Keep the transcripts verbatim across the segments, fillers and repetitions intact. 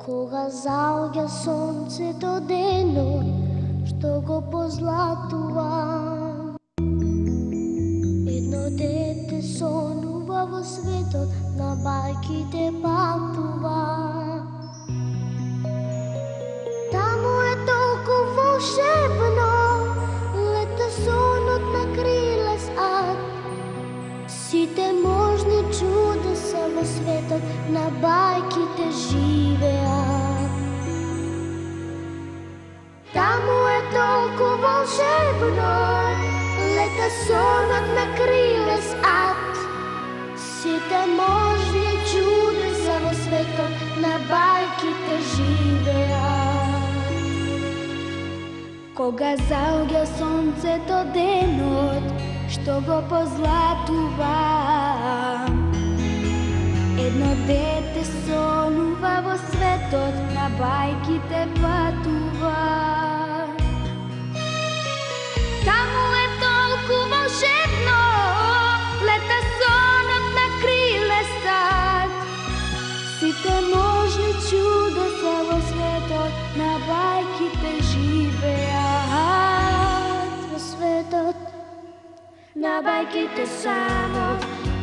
Кога заоѓа сонцето денот, што го позлатува. Едно дете сонува во светот, на бајките патува. Таму е толку волшебно, лета сонот на крилес ад. Сите можни чудеса во светот, на бајките живеат. Таму е толку волшебно, лета сонот на крилес ад. Сите можни чудеса во светот, на бајките живеат. Кога заоѓа сонцето денот, што го позлатува. Едно дете сонува во светот, на бајките патува. Таму е толку волшебно, лета сонот на крилес ад. Сите можни чудеса во светот, на бајките живеат. Во светот, на бајките само,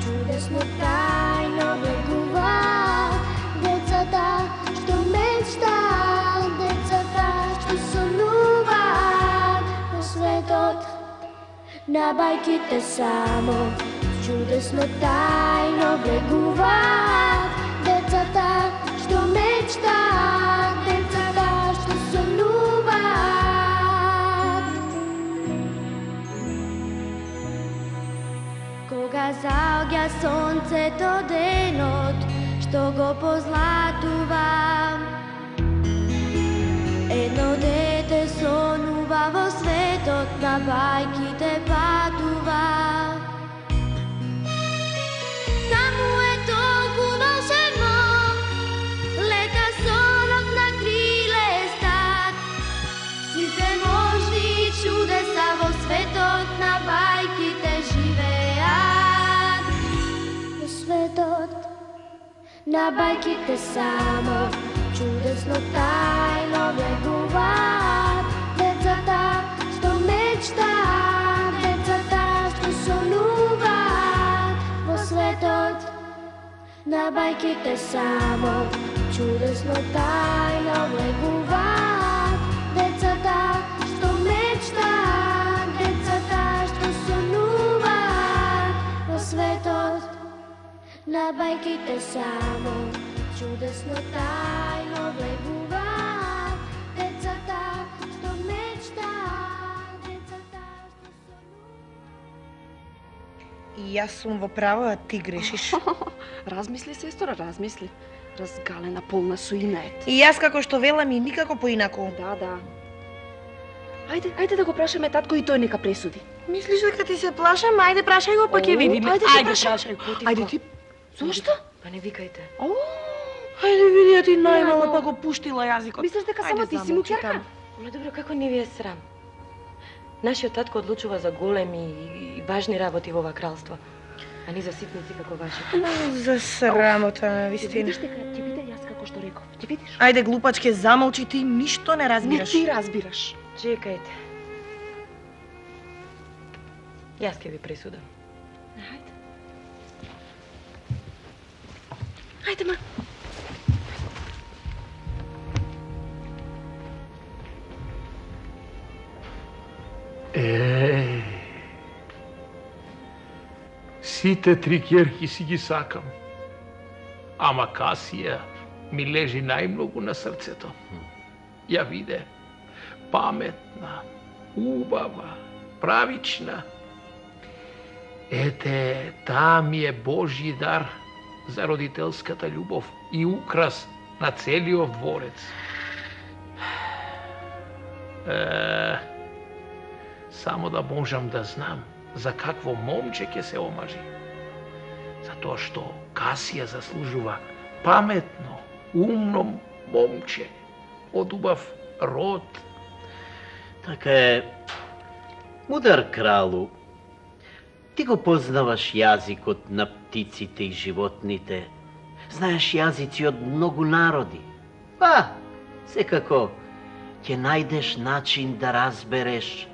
чудесно тајно влегуваат. Децата што мечтаат, децата што сонуваат. Во светот, на бајките само, чудесно тајно влегуваат. Децата што мечтаат, децата што сонуваат. Кога заоѓа сонцето денот, што го позлатува. Едно дете сонува во светот, на бајките патува. Таму е толку волшебно, лета сонот на крилес ад. Сите можни чудеса во светот, на бајките живеат. Во светот, на бајките само, чудесно тајно влегуваат. Децата што мечтаат, децата што сонуваат. Во светот, на бајките само, чудесно тајно влегуваат. Децата што мечтаат, децата што сонуваат. Во светот, на бајките само, чудесно тајно влегуваат. Децата што мечтаат, децата што сонуваат. И јас сум во право, а ти грешиш. Размисли, сестра, размисли. Разгалена, полна со инет. И јас како што велам и никако поинако. Да, да. Ајде, ајде да го прашаме татко и тој нека пресуди. Мислиш дека ти се плашам? Ајде прашај го, па ќе видиме. Ајде, Ајде прашај. Ајде ти. Зошто? Па не викајте. Ајде види, ти најмало па го пуштила јазикот. Мислиш дека само ти си муќерка? Ма добро, како не ви е срам? Нашиот татко одлучува за големи и важни работи во ова кралство, а не за ситници како вашите. За срамота, на вистина. Видиш дека ќе биде јас како што реков. Ќе видиш? Ајде глупачке, замолчи, ти ништо не Не разбираш. ти разбираш. Чекајте. Јас ќе ви пресудам. Ајде. Ајде, ма. Еј, сите три ќерки си ги сакам, ама Касија ми лежи најмногу на срцето. Ја виде, паметна, убава, правична. Ете, таа ми е Божји дар за родителската љубов и украс на целиот дворец. Е, само да можам да знам за какво момче ќе се омажи. Затоа што Касија заслужува паметно, умно момче од убав род. Така е, мудар кралу, ти го познаваш јазикот на птиците и животните, знаеш јазици од многу народи, Па, секако, ќе најдеш начин да разбереш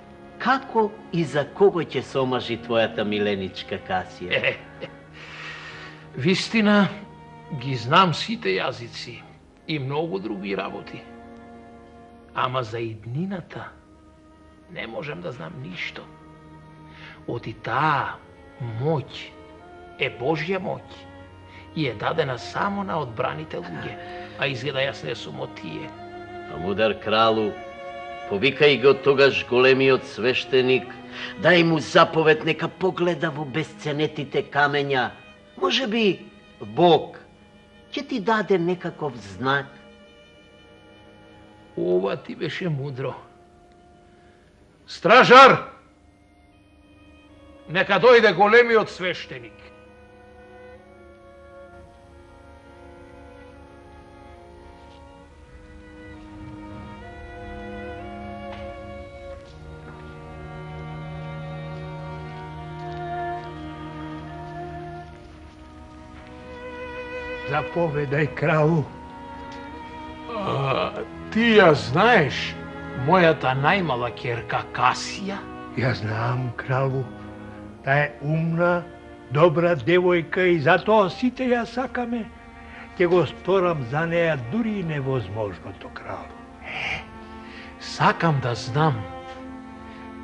како и за кого ќе се омажи твојата миленичка Касија. Вистина, ги знам сите јазици и многу други работи. Ама за иднината не можем да знам ништо. Оти таа моќ е Божја моќ и е дадена само на одбраните луѓе, а изгледа јас не сум од тие. А мудар кралу, повикај го тогаш големиот свештеник, дај му заповед нека погледа во бесценетите камења. Може би Бог ќе ти даде некаков знак. Ова ти беше мудро. Стражар! Нека дојде големиот свештеник. Заповедај, кралу. А, ти ја знаеш мојата најмала ќерка Касија? Ја знам, кралу. Таа е умна, добра девојка и затоа сите ја сакаме. Ќе го сторам за неја дури и невозможното, кралу. Сакам да знам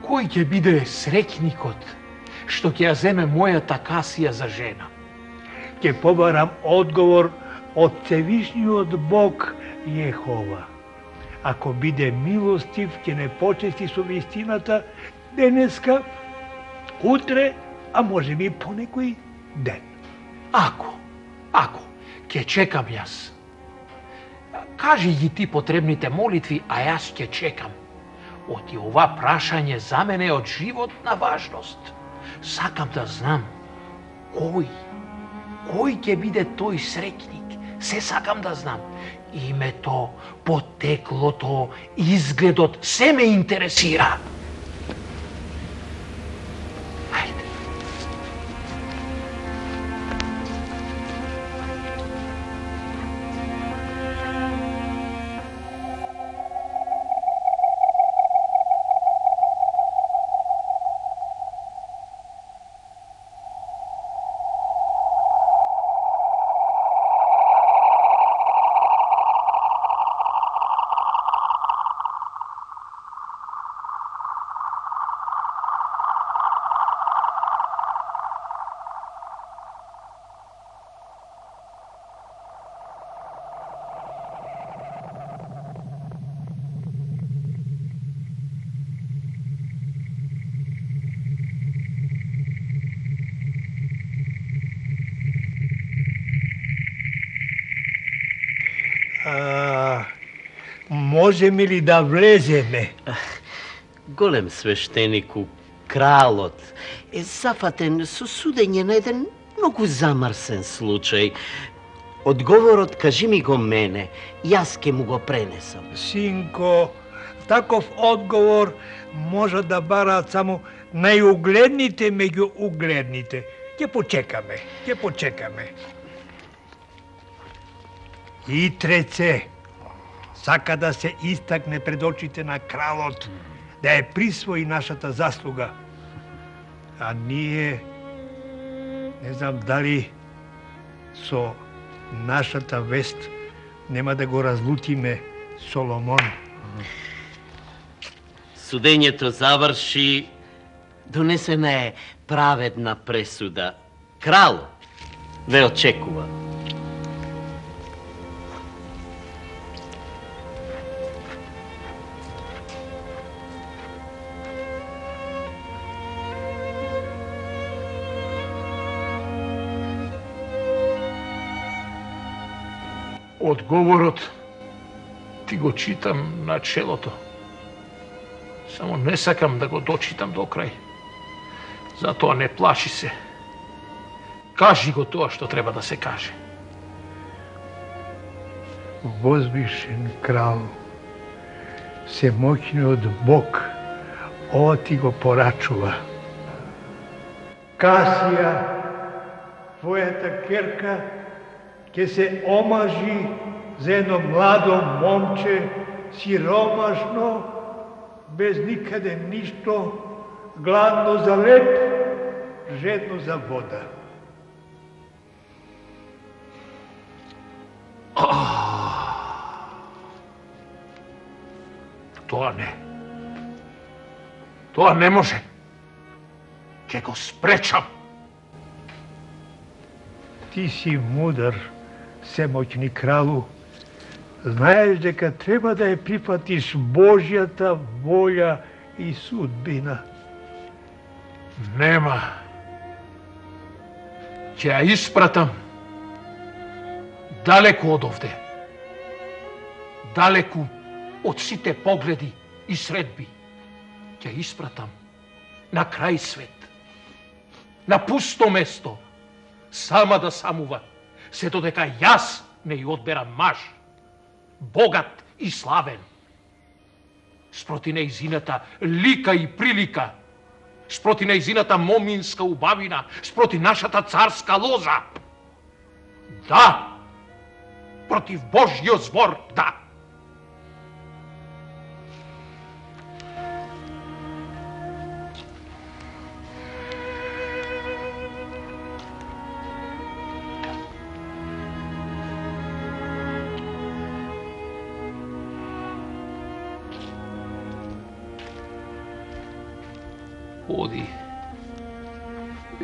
кој ќе биде среќникот што ќе ја земе мојата Касија за жена. Ќе побарам одговор од Севишниот Бог Јехова. Ако биде милостив, ќе не почести со вистината денеска, утре, а може би по некој ден. Ако, ако, ќе чекам јас. Кажи ги ти потребните молитви, а јас ќе чекам. Оти ова прашање за мене е од животна важност. Сакам да знам кој, кој ќе биде тој среќник. Се сакам да знам. Името, потеклото, изгледот, се ме интересира. Ајде. А, можеме ли да влеземе? Голем свештенику, кралот е зафатен со судење на еден многу замрсен случај. Одговорот кажи ми го мене, јас ке му го пренесам. Синко, таков одговор може да бараат само најугледните меѓу угледните. Ќе почекаме, ќе почекаме. И треце, сака да се истакне пред очите на кралот, да ја присвои нашата заслуга. А ние, не знам дали со нашата вест нема да го разлутиме Соломон. Судењето заврши, донесена е праведна пресуда. Крал ве очекува. Одговорот ти го читам на челото. Само не сакам да го дочитам до крај. Затоа не плаши се. Кажи го тоа што треба да се каже. Возвишен крал, всемоќниот Бог, ова ти го порачува. Касија, твојата керка, ќе се омажи за едно младо момче, сиромашно, без никаде ништо, гладно за леп, жедно за вода. Тоа не. Тоа не може. Ќе го спречам. Ти си мудар, всемоќни кралу. Знаеш дека треба да ја прифатиш Божјата волја и судбина. Нема. Ќе ја испратам далеку од овде. Далеку од сите погледи и средби. Ќе ја испратам на крај свет. На пусто место. Сама да самува. Се додека јас не ја одберам маж. Богат и славен. Спроти нејзината лика и прилика. Спроти нејзината моминска убавина. Спроти нашата царска лоза. Да! Против Божјиот збор, да! Оди,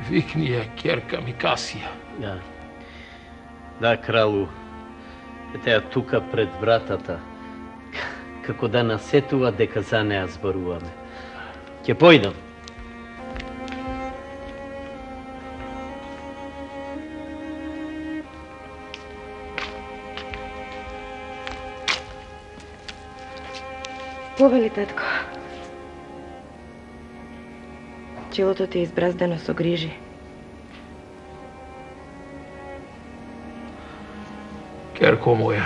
викни ја ќерка ми Касија. Да. Да, кралу. Ете ја тука пред вратата. Како да насетува дека за неа зборуваме. Ќе појдам. Повели, татко. Челото ти е избраздено со грижи. Керко моја,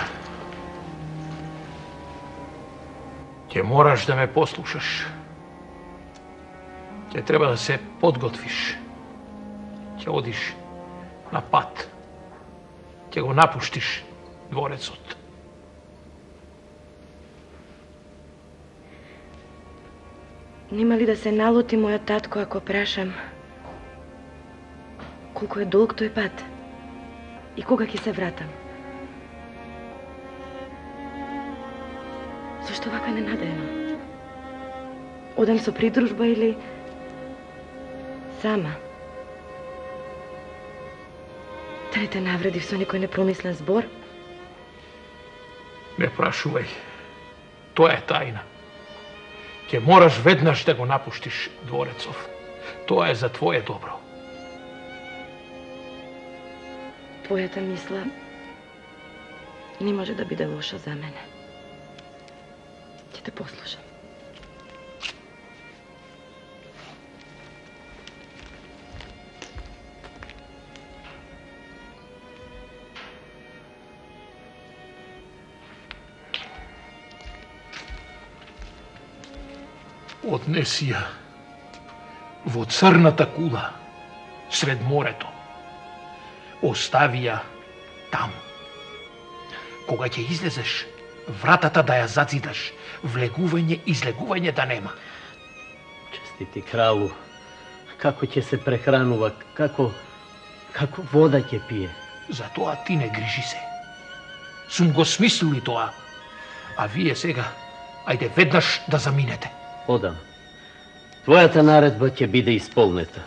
ќе мораш да ме послушаш. Ќе треба да се подготвиш. Ќе одиш на пат. Ќе го напуштиш дворецот. Нема ли да се налути мојот татко ако прашам колку е долг тој пат и кога ќе се вратам? Зошто вака ненадејно? Одам со придружба или сама? Да не те навредив со некој непромислен збор? Не прашувај. Тоа е тајна. Ќе мораш веднаш да го напуштиш дворецов. Тоа е за твое добро. Твојата мисла не може да биде лоша за мене. Ќе те послушам. Однеси ја во црната кула сред морето. Остави ја таму. Кога ќе излезеш, вратата да ја зацидаш, влегување и излегување да нема. Честити кралу, како ќе се прехранува, како како вода ќе пие. За тоа ти не грижи се. Сум го смислил и тоа. А вие сега, ајде веднаш да заминете. Одам. Твојата наредба ќе биде исполнета.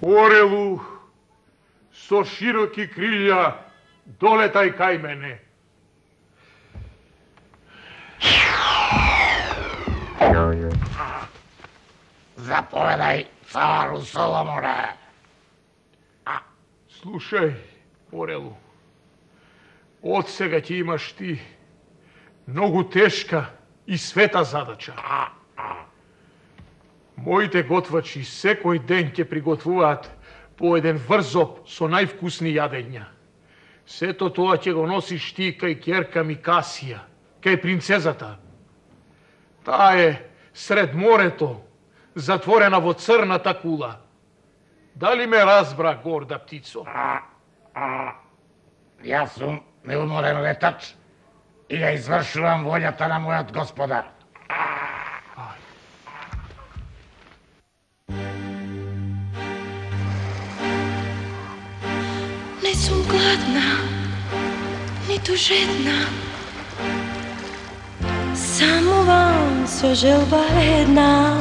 Орелу, со широки крилја, долетај кај мене. Заповедај, цару Соломоне. Слушај, Орелу, од сега ќе имаш ти Многу тешка и света задача. Моите готвачи секој ден ќе приготвуваат по еден врзоп со највкусни јадења. Сето тоа ќе го носиш ти кај ќерка ми Касија, кај принцезата. Таа е сред морето, затворена во црната кула. Дали ме разбра, горда птицо? А, а, јас сум неуморен летач и ја извршувам волјата на мојот господар. Не сум гладна, ниту жедна, само вам со желба една.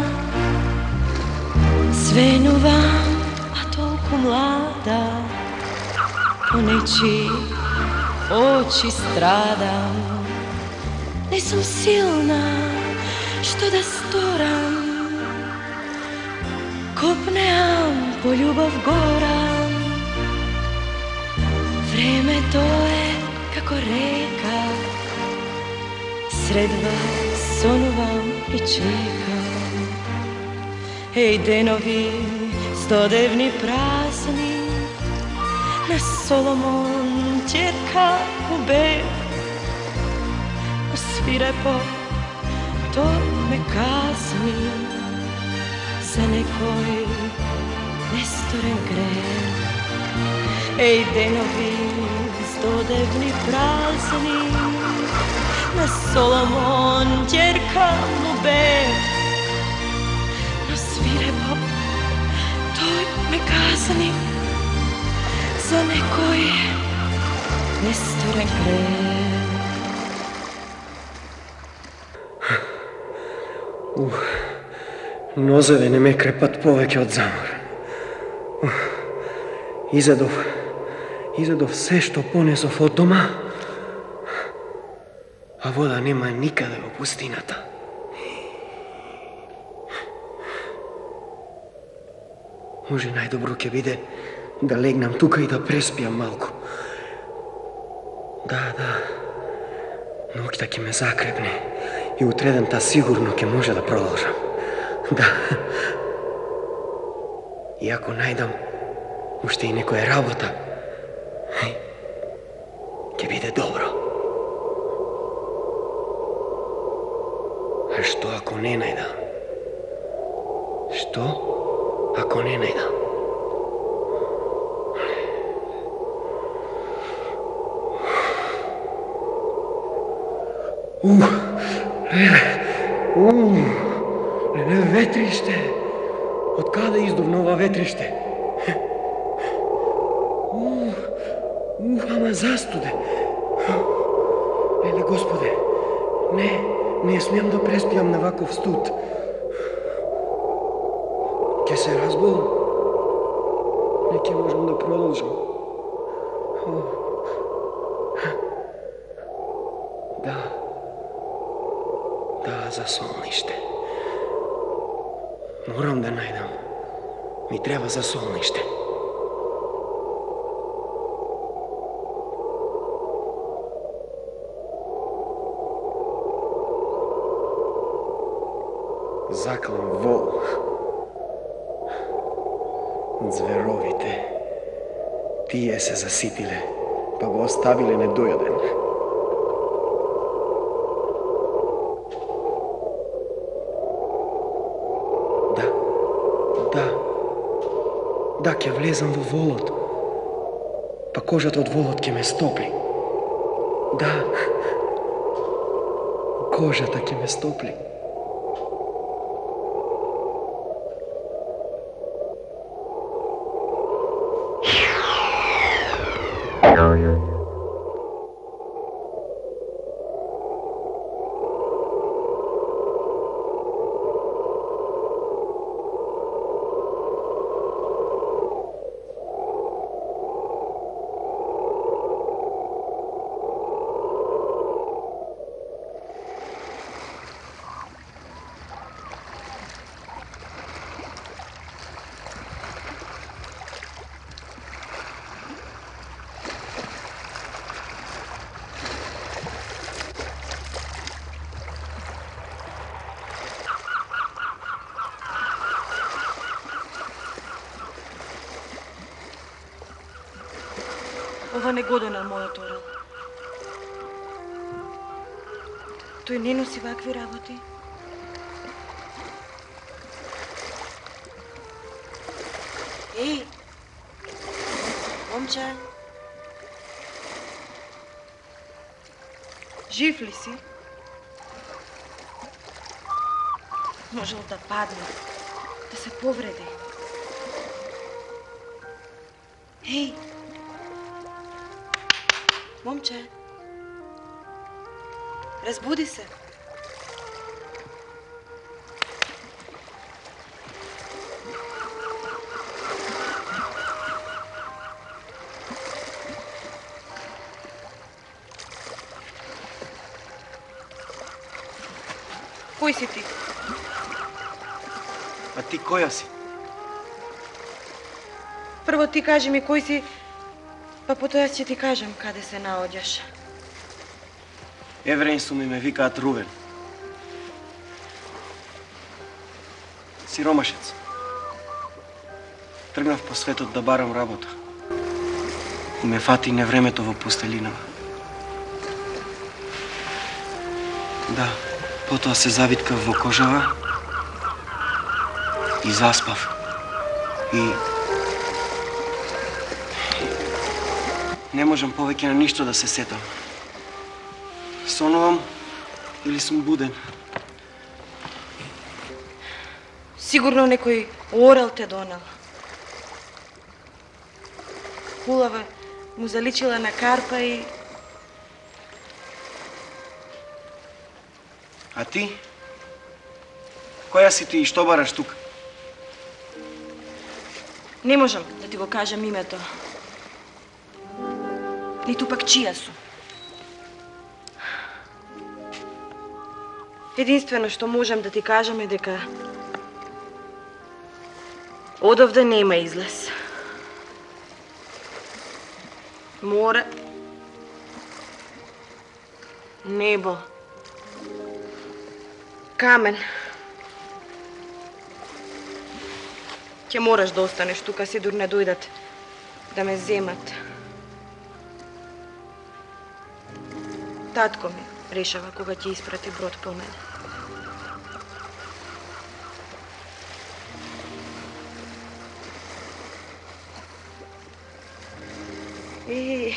Свенувам, а толку млада, по нечи очи страдам. Не сум силна, што да сторам, копнеам по љубов горам. Времето е како река, сред вас сонувам и чекам. Еј денови стодевни празни, на Соломон ќерка убев. Свирепо тој ме казни за некој несторен грех. Еј денови стодевни празни, на Соломон ќерка му бев. Но свирепо тој ме казни за некој несторен грех. Ух, нозеве не ме крепат повеќе од замор. Ух, изедов, изедов се што понесов од дома, а вода нема никаде во пустината. Може најдобро ќе биде да легнам тука и да преспиам малку. Да, да, ноќта ќе ме закрепне и утредента сигурно ќе може да продолжам. Да. И ако најдам уште и некоја работа, ќе биде добро. А што ако не најдам? Што ако не најдам? Ух, леле, ух, леле, ветриште. Од каде издувна ова ветриште? Ух, ух, ама застуде. Леле, Господе, не, не смеам да преспиам на ваков студ. Ке се разболам. Не ќе можам да продолжам. Да. Да, за солниште. Морам да најдам. Ми треба за солниште. Заклан вол. Зверовите. Тие се заситиле, па го оставиле недојаден. Да, ќе влезам во волот, па кожата од волот ќе ме стопли. Да, кожата ќе ме стопли. Ова не го донел мојот орел. Тој не носи вакви работи. Еј! Момче! Жив ли си? Можел да падне, да се повреди. Еј! Момче! Разбуди се! Кој си ти? А ти која си? Прво ти кажи ми кој си, па потоа ќе ти кажам каде се наоѓаш. Евреин сум и ме викаат Рувен. Сиромашец. Тргнав по светот да барам работа. И ме фати невремето во пустелинава. Да, потоа се завиткав во кожава и заспав. И не можам повеќе на ништо да се сетам. Сонувам или сум буден? Сигурно некој орел те донел. Хулава му заличила на карпа и... А ти? Која си ти и што бараш тука? Не можам да ти го кажам името. Ниту пак чија сум. Единствено што можам да ти кажам е дека одовде нема излез. Море, небо, камен. Ќе мораш да останеш тука, сидур не дојдат да ме земат. Татко ми решава кога ќе испрати брод по мене. И...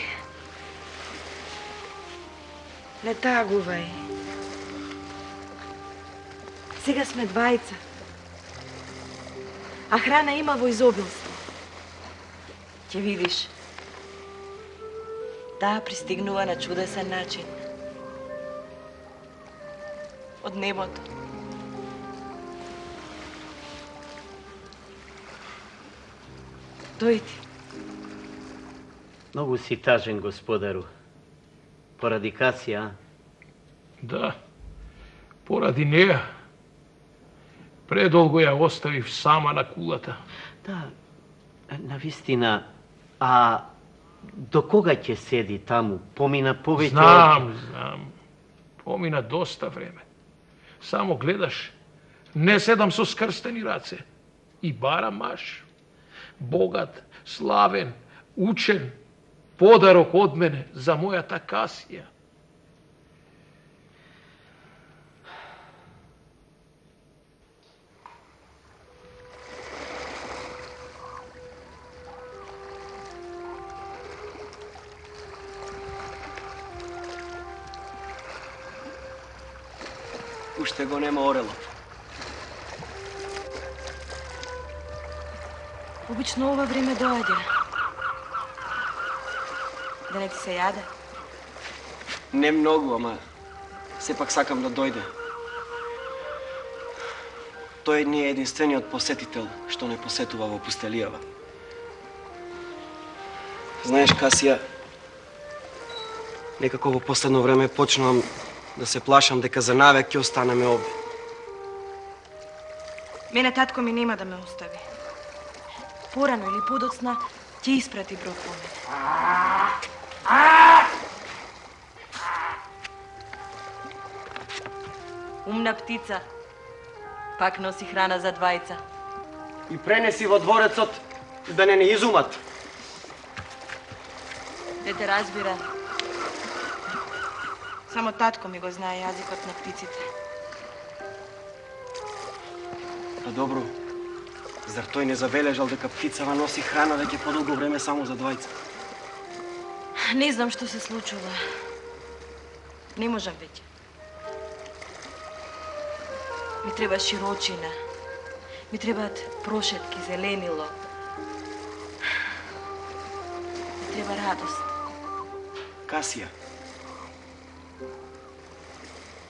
не тагувај. Сега сме двајца. А храна има во изобилство. Ќе видиш. Таа пристигнува на чудесен начин. Од небото. Дојди. Многу си тажен, господару. Поради Касија, а? Да, поради неја. Предолго ја оставив сама на кулата. Да, навистина, а до кога ќе седи таму? Помина повеќе... Знам, знам. Помина доста време. Само гледаш, не седам со скрстени раце. И барам маш. Богат, славен, учен, подарок од мене за мојата Касија. Уште го нема орелот. Обично ова време доаѓа. Да не ти се јаде? Не многу, ама сепак сакам да дојде. Тој не е единствениот посетител што не посетува во пустелијава. Знаеш, Касија, некако во последно време почнувам да се плашам дека за навек ќе останеме овде. Мене татко ми нема да ме остави. Порано или подоцна ќе испрати брод по мене. Умна птица. Пак носи храна за двајца. И пренеси во дворецот да не не изумат. да те разбира. Само татко ми го знае јазикот на птиците. Па добро, зар тој не забележал дека птицава носи храна веќе подолго време само за двајца? Не знам што се случува. Не можам веќе. Ми треба широчина. Ми требаат прошетки, зеленило. Ми треба радост. Касија,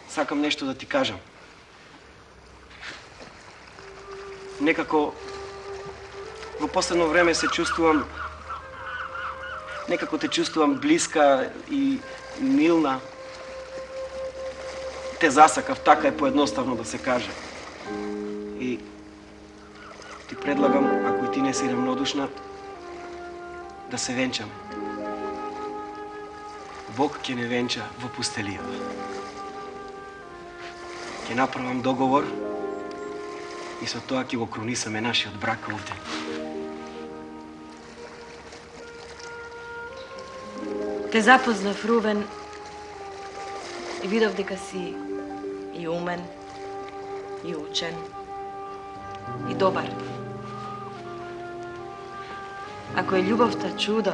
сакам нешто да ти кажам. Некако во последно време се чувствувам, некако те чувствувам блиска и милна. Те засакав, така е поедноставно да се каже. И ти предлагам, ако и ти не си ремнодушна, да се венчаме. Бог ќе не венча во пустелијава. Ќе направам договор и со тоа ќе го кронисаме нашиот брак овде. Те запознав, Рувен, и видов дека си и умен, и учен, и добар. Ако е љубовта чудо,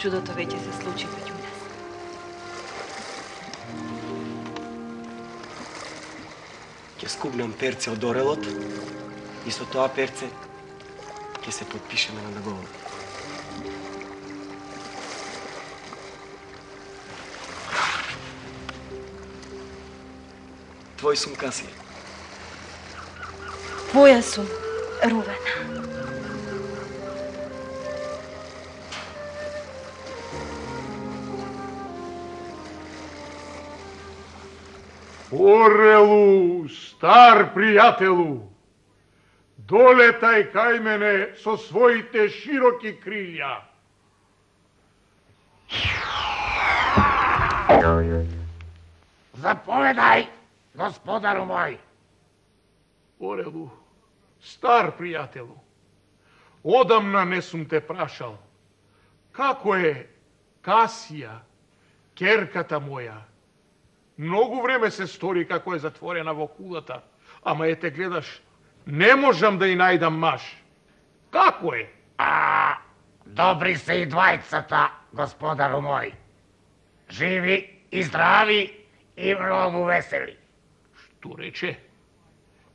чудото веќе се случи меѓу нас. Ќе скубнам перце од орелот и со тоа перце ќе се подпишеме на договор. Твој сум, Касија. Твоја сум, Рувен. Орелу, стар пријателу, долетај кај мене со своите широки крилја. Заповедај, господару мој. Орелу, стар пријателу, одамна не сум те прашал. Како е Касија, керката моја? Многу време се стори како е затворена во кулата, ама е те гледаш, не можам да и најдам маж. Како е? А, добри се и двајцата, господару мој. Живи и здрави и многу весели. Што рече?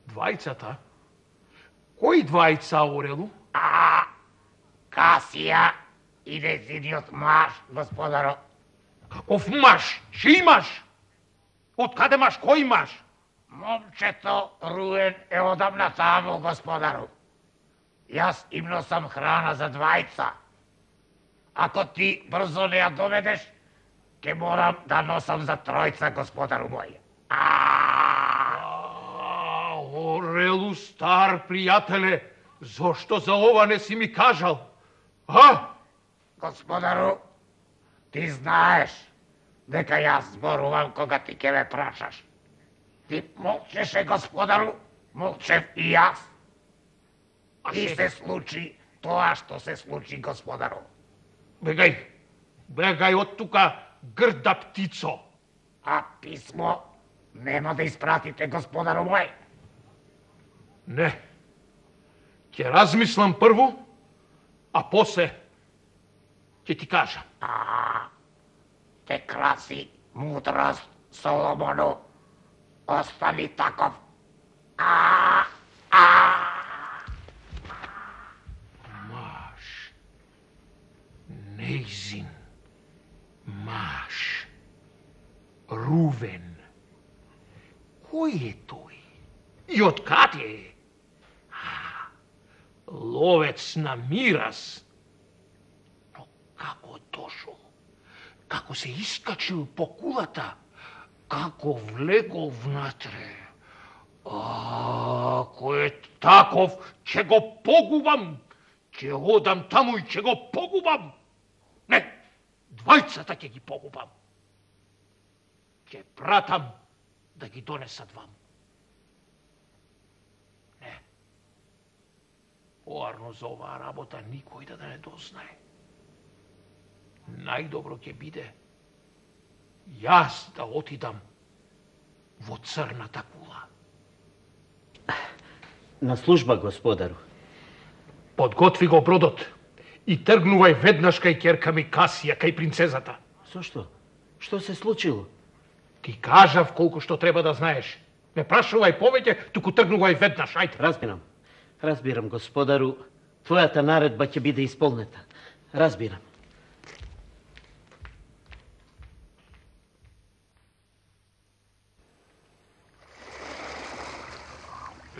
Двајцата? Кои двајца, Орелу? А, Касија и незиниот маж, господаро. Каков маж? Чиј маж? Од каде маж? Кој маж? Момчето Руен е одамна таму, господару. Јас им носам храна за двајца. Ако ти брзо не ја доведеш, ќе морам да носам за тројца, господару мој. А, Орелу, стар пријателе, зошто за ова не си ми кажал? А? Господару, ти знаеш дека јас зборувам кога ти ќе ме прашаш. Ти молчеше, господару, молчев и јас. И се случи тоа што се случи, господару. Бегај, бегај од тука, грда птицо. А писмо нема да испратите, господару мој? Не. Ќе размислам прво, а после ќе ти кажам. А, те краси мудрост, Соломону. Остани таков. А, а. Маж. Нејзин. Маж. Рувен. Кој е тој? И од каде е? Ловец на мирас. Но како дошол? Како се искачил по кулата? Како влегол внатре? А, ако е таков, ќе го погубам. Ќе одам таму и ќе го погубам. Не, двајцата ќе ги погубам. Ќе пратам да ги донесат вам. Не. Поарно за оваа работа никој да не дознае. најдобро ќе биде јас да отидам во црната кула. На служба, господару. Подготви го бродот и тргнувај веднаш кај ќерка ми Касија, кај принцезата. Зошто? Што се случило? Ти кажав колку што треба да знаеш. Не прашувај повеќе, туку тргнувај веднаш, ајде. Разбирам. Разбирам, господару. Твојата наредба ќе биде исполнета. Разбирам.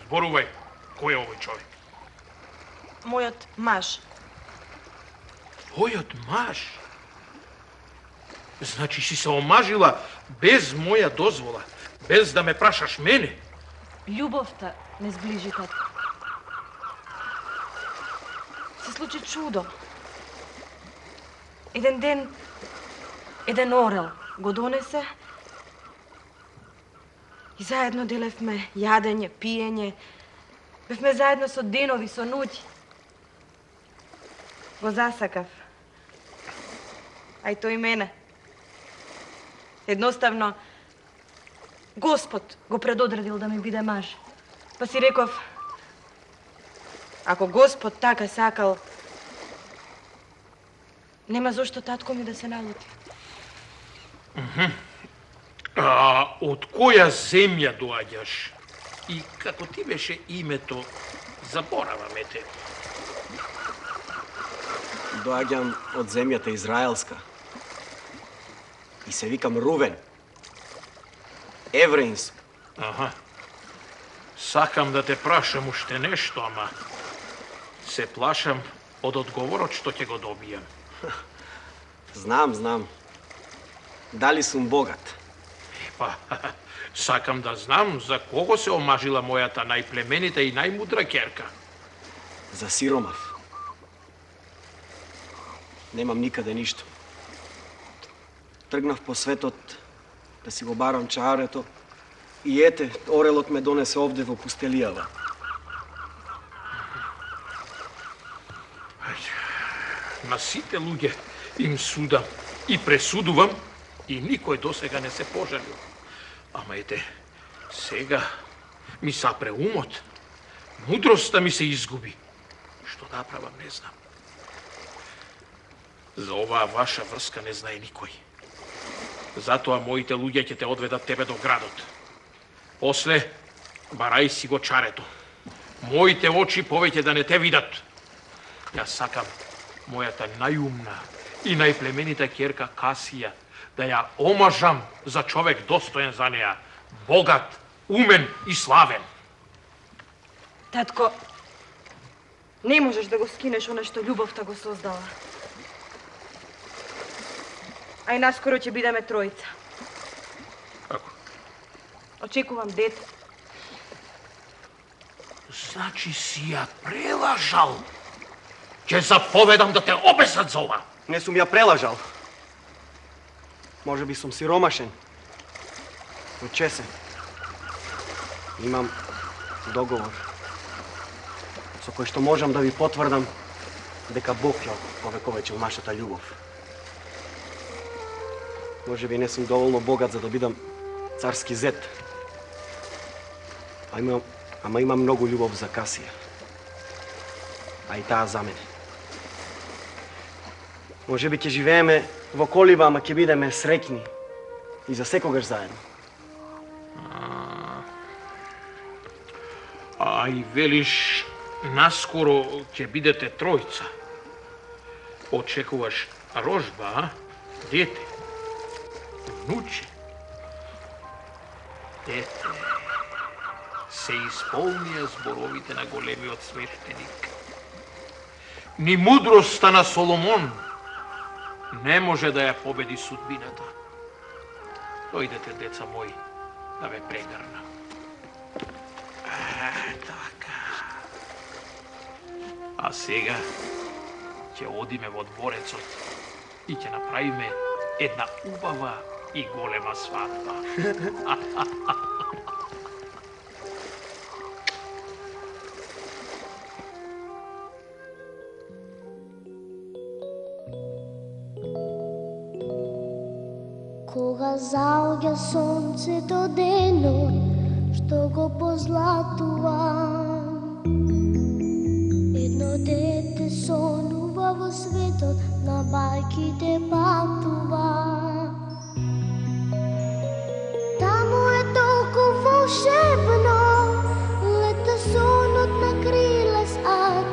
Зборувај, кој е овој човек? Мојот маж. Твојот маж? Значи си се омажила без моја дозвола, без да ме прашаш мене? Љубовта не сближи, татко. Се случи чудо. Еден ден, еден орел го донесе и заедно делевме јадење, пиење. Бевме заедно со денови, со ноќи. Го засакав. А и тој мене. Едноставно, Господ го предодредил да ми биде маж. Па си реков, ако Господ така сакал, нема зошто татко ми да се налути. А од која земја доаѓаш? И како ти беше името, забораваме те. Доаѓам од земјата Израелска. И се викам Рувен. Евреинск. Аха. Сакам да те прашам уште нешто, ама се плашам од одговорот што ќе го добијам. Знам, знам. Дали сум богат? Па, сакам да знам за кого се омажила мојата најплеменита и најмудра ќерка. За сиромав. Немам никаде ништо. Тргнав по светот да си го барам чарето и ете, орелот ме донесе овде во пустелијава. На сите луѓе им судам и пресудувам и никој досега не се пожалил. Ама ете, сега ми сапре умот. Мудроста ми се изгуби. Што да правам, не знам. За оваа ваша врска не знае никој. Затоа моите луѓе ќе те одведат тебе до градот. После, барај си го чарето. Моите очи повеќе да не те видат. Јас сакам мојата најумна и најплеменита ќерка Касија да ја омажам за човек достоен за неа, богат, умен и славен. Татко, не можеш да го скинеш оно што љубовта го создала. А и наскоро ќе бидеме тројца. Како? Очекувам дете. Значи си ја прелажал. Ќе заповедам да те обесат за ова. Не сум ја прелажал. Може би сум сиромашен. Учесен. Имам договор со кој што можам да ви потврдам дека Бог ја повековечил нашата љубов. Може би не сум доволно богат за да бидам царски зет. А имам, ама имам многу љубов за Касија. А и таа за мене. Може би ќе живееме во колиба, ама ќе бидеме среќни и за секогаш заедно. А, а и велиш, наскоро ќе бидете тројца. Очекуваш рожба, а? Дете, внуче. Ете, се исполнија зборовите на големиот свештеник. Ни мудроста на Соломон не може да ја победи судбината. Дојдете, деца мои, да ве прегрна. А, така. А сега ќе одиме во дворецот и ќе направиме една убава и голема свадба. Кога заоѓа сонцето денот, што го позлатува. Едно дете сонува во светот, на бајките патува. Таму е толку волшебно, лета сонот на крилес ад.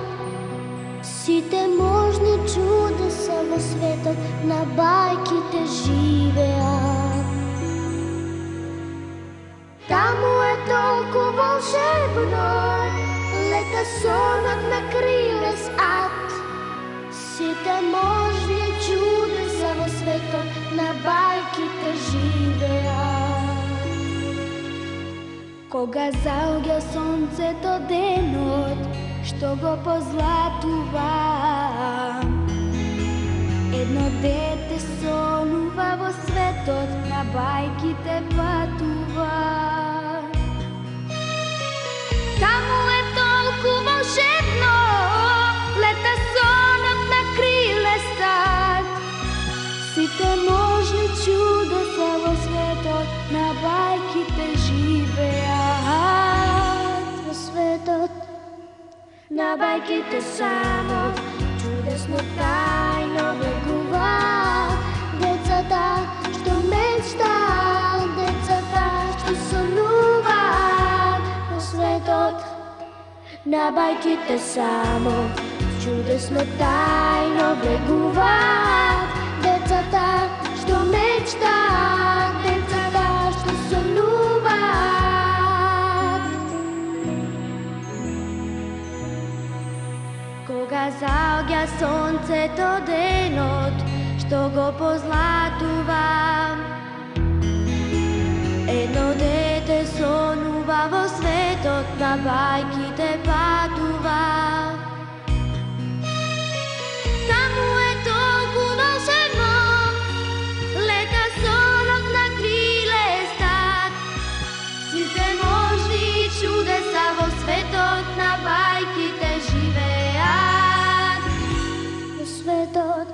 Сите можни чудеса во светот, на бајките живеат. Таму е толку волшебно, лета сонот на крилес ад. Сите можни чудеса во светот, на бајките живеат. Кога заоѓа сонцето денот, што го позлатува. Едно дете сонува во светот, на бајките патува. Таму е толку волшебно, лета сонот на крилес ад. Сите можни чудеса во светот, на бајките живеат. Во светот, на бајките само, чудесно тајно влегуваат. Децата што мечтаат, децата што сонуваат. Во светот, на бајките само, чудесно тајно влегуваат. Децата што мечтаат, децата што сонуваат. Кога заоѓа сонцето денот, што го позлатува. Едно дете сонува во светот, на бајките патува. Таму е толку волшебно, лета сонот на крилес ад. Сите можни чудеса во светот, на бајките живеат. Во светот,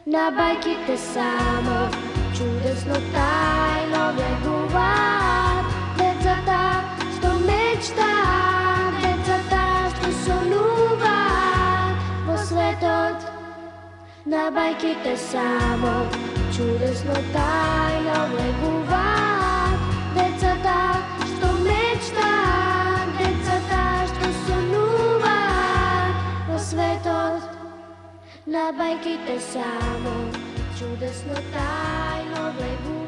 на бајките само, чудесно тајно влегуваат. Децата што мечтаат, децата што сонуваат. Во светот, на бајките само, чудесно тајно влегуваат. Децата што мечтаат, децата што сонуваат. Во светот, на бајките само, чудесно тајно влегуваат.